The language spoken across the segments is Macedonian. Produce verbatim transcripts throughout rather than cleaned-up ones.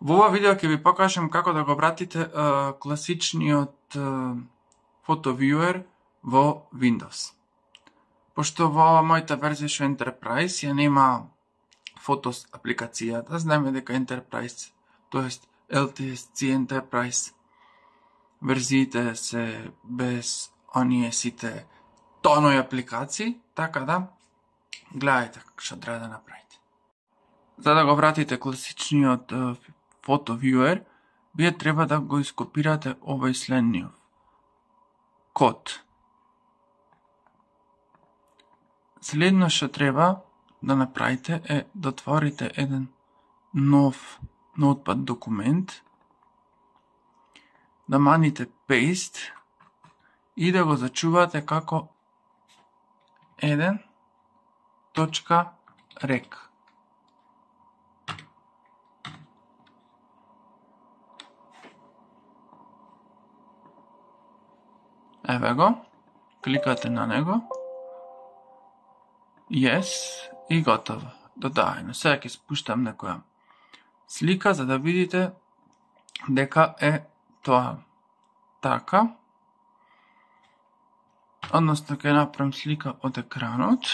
Во ова видео ќе ви покажам како да го вратите uh, класичниот uh, Photo Viewer во Windows. Пошто во мојата верзија што Enterprise ја нема Photos апликацијата, знаеме дека Enterprise, тоест Ел Ти Ес Си Enterprise верзиите се без оние сите тонови апликации, така да гледајте како што треба да направите. За да го вратите класичниот uh, Photo Viewer, вие треба да го ископирате овој следниот код. Следно што треба да направите е да отворите еден нов Notepad документ, да маните Paste и да го зачувате како еден точка рек. Еве го, кликате на него, yes, и готово. Додаено. Сега ќе спуштам некоја слика за да видите дека е тоа така. Односно ќе направам слика од екранот.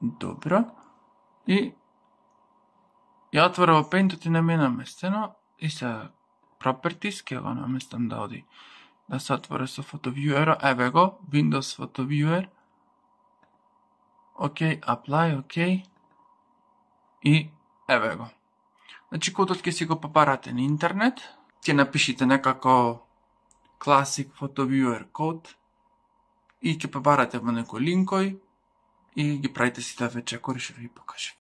Добро. И ја отворам во Paint и не ми наместено и се Properties ќе го наместам да оди да се отвори со Photo Viewer. Еве го, Windows Photo Viewer. Океј, Apply, океј. И еве го. Значи кодот ќе си го побарате на интернет, ќе напишите некако Classic Photo Viewer код и ќе побарате во некој линкој и ги правите сите ве чекори што ви покажав.